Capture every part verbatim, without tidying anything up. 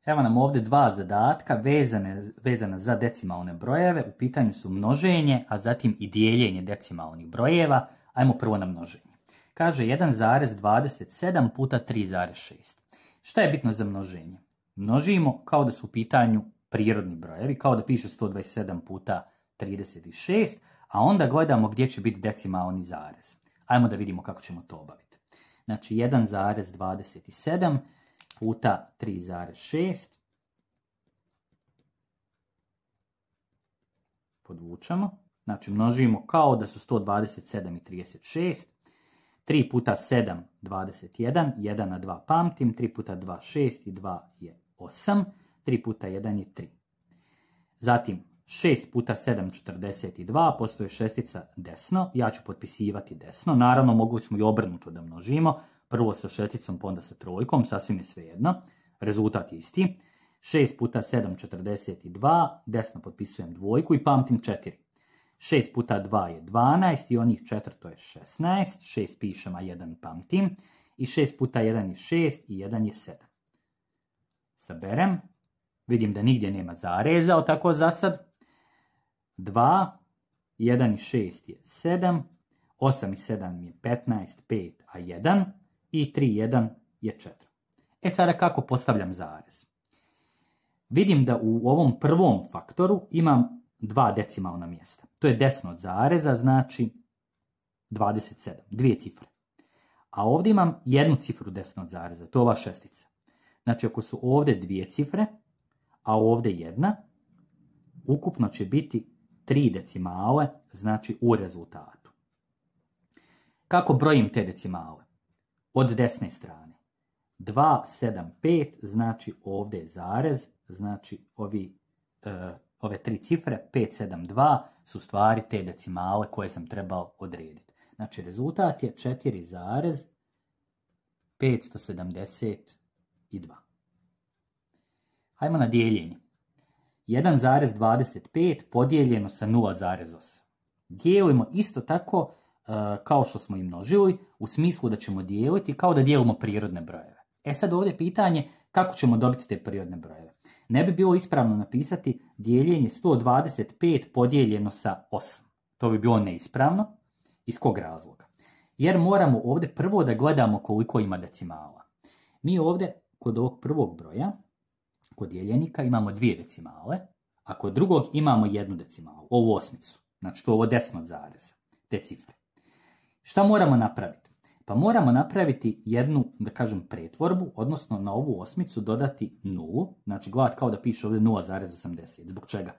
Evo nam ovdje dva zadatka vezane, vezana za decimalne brojeve. U pitanju su množenje, a zatim i dijeljenje decimalnih brojeva. Ajmo prvo na množenje. Kaže jedan zarez dvadeset sedam puta tri zarez šest. Šta je bitno za množenje? Množimo kao da su u pitanju prirodni brojevi, kao da piše sto dvadeset sedam puta trideset šest, a onda gledamo gdje će biti decimalni zarez. Ajmo da vidimo kako ćemo to obaviti. Znači jedan zarez dvadeset sedam puta tri zarez šest. Podvučemo. Znači množimo kao da su sto dvadeset sedam i trideset šest. tri puta sedam, dvadeset jedan. jedan na dva pamtim. tri puta dva, šest i dva je osam. tri puta jedan je tri. Zatim šest puta sedam, četrdeset dva. Postoji šestica desno. Ja ću potpisivati desno. Naravno mogli smo i obrnuto da množimo. Prvo sa šesticom, pa onda sa trojkom, sasvim je svejedno. Rezultat je isti. šest puta sedam, četrdeset dva, desno potpisujem dvojku i pamtim četiri. šest puta dva je dvanaest i onih četiri to je šesnaest. šest pišem, a jedan pamtim. I šest puta jedan je šest i jedan je sedam. Saberem. Vidim da nigdje nema zareza, tako za sad. dva, jedan i šest je sedam. osam i sedam je petnaest, pet, a jedan. I tri, jedan je četiri. E sada kako postavljam zarez? Vidim da u ovom prvom faktoru imam dva decimalna mjesta. To je desno od zareza, znači dvadeset sedam, dvije cifre. A ovdje imam jednu cifru desno od zareza, to je ova šestica. Znači ako su ovdje dvije cifre, a ovdje jedna, ukupno će biti tri decimale, znači u rezultatu. Kako brojim te decimale? Od desne strane. dva, sedam, pet, znači ovdje je zarez, znači ovi, e, ove tri cifre, pet, sedam, dva, su stvari te decimale koje sam trebao odrediti. Znači rezultat je četiri zarez petsto sedamdeset dva. Hajmo na dijeljenje. jedan zarez dvadeset pet podijeljeno sa nula zarez osam. Dijelimo isto tako kao što smo i množili, u smislu da ćemo dijeliti kao da dijelimo prirodne brojeve. E sad ovdje pitanje kako ćemo dobiti te prirodne brojeve. Ne bi bilo ispravno napisati dijeljenje sto dvadeset pet podijeljeno sa osam. To bi bilo neispravno. Iz kog razloga? Jer moramo ovdje prvo da gledamo koliko ima decimala. Mi ovdje kod ovog prvog broja, kod dijeljenika imamo dvije decimale, a kod drugog imamo jednu decimalu, ovu osmicu. Znači to je ovo desno od zareza, te cifre. Šta moramo napraviti? Pa moramo napraviti jednu, da kažem, pretvorbu, odnosno na ovu osmicu dodati nulu, znači gledati kao da piše ovdje nula zarez osamdeset. Zbog čega?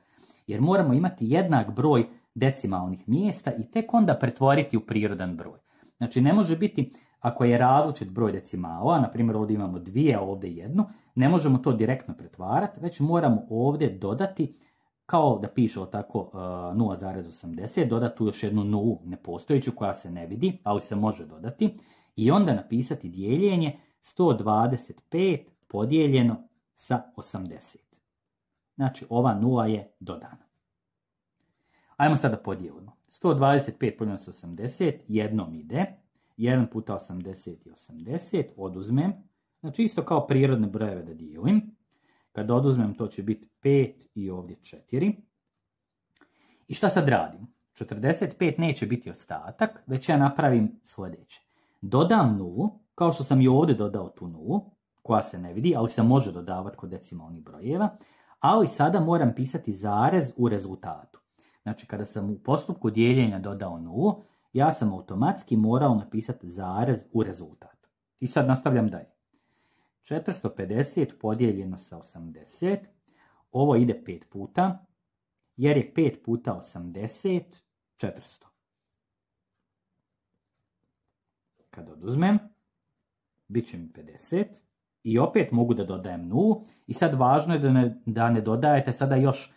Jer moramo imati jednak broj decimalnih mjesta i tek onda pretvoriti u prirodan broj. Znači ne može biti, ako je različit broj decimala, na primjer ovdje imamo dvije, a ovdje jednu, ne možemo to direktno pretvarati, već moramo ovdje dodati, kao da piše tako uh, nula zarez osamdeset, dodati tu još jednu nulu nepostojeću koja se ne vidi, ali se može dodati, i onda napisati dijeljenje sto dvadeset pet podijeljeno sa osamdeset. Znači ova nula je dodana. Ajmo sada podijelimo. sto dvadeset pet podijeljeno sa osamdeset, jednom ide, jedan puta osamdeset je osamdeset, oduzmem, znači isto kao prirodne brojeve da dijelim. Kada oduzmem to će biti pet i ovdje četiri. I šta sad radim? četrdeset pet neće biti ostatak, već ja napravim sljedeće. Dodam nulu, kao što sam i ovdje dodao tu nulu, koja se ne vidi, ali se može dodavati kod decimalnih brojeva, ali sada moram pisati zarez u rezultatu. Znači kada sam u postupku dijeljenja dodao nulu, ja sam automatski morao napisati zarez u rezultatu. I sad nastavljam dalje. četiristo pedeset podijeljeno sa osamdeset, ovo ide pet puta, jer je pet puta osamdeset, četiristo. Kad oduzmem, bit će mi pedeset i opet mogu da dodajem nulu i sad važno je da ne, da ne dodajete sada još e,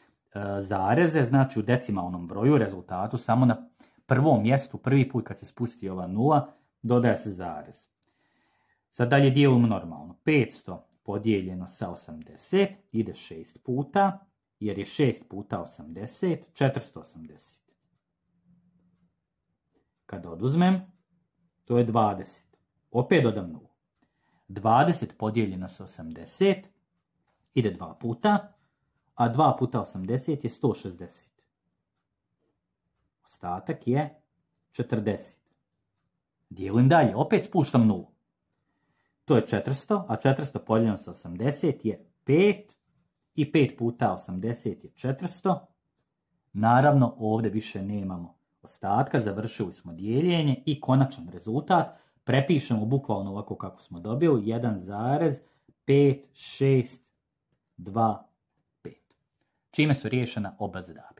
zareze, znači u decimalnom broju, rezultatu, samo na prvom mjestu, prvi put kad se spusti ova nula, dodaje se zarez. Sad dalje dijelimo normalno. petsto podijeljeno sa osamdeset ide šest puta, jer je šest puta osamdeset, četiristo osamdeset. Kad oduzmem, to je dvadeset. Opet dodam nulu. dvadeset podijeljeno sa osamdeset ide dva puta, a dva puta osamdeset je sto šezdeset. Ostatak je četrdeset. Dijelim dalje, opet spuštam nulu. To je četiristo, a četiristo podijeljeno sa osamdeset je pet, i pet puta osamdeset je četiristo. Naravno, ovdje više nemamo ostatka, završili smo dijeljenje i konačan rezultat prepišemo bukvalno ovako kako smo dobili, jedan zarez pet šest dva pet. Čime su riješena oba zadatka.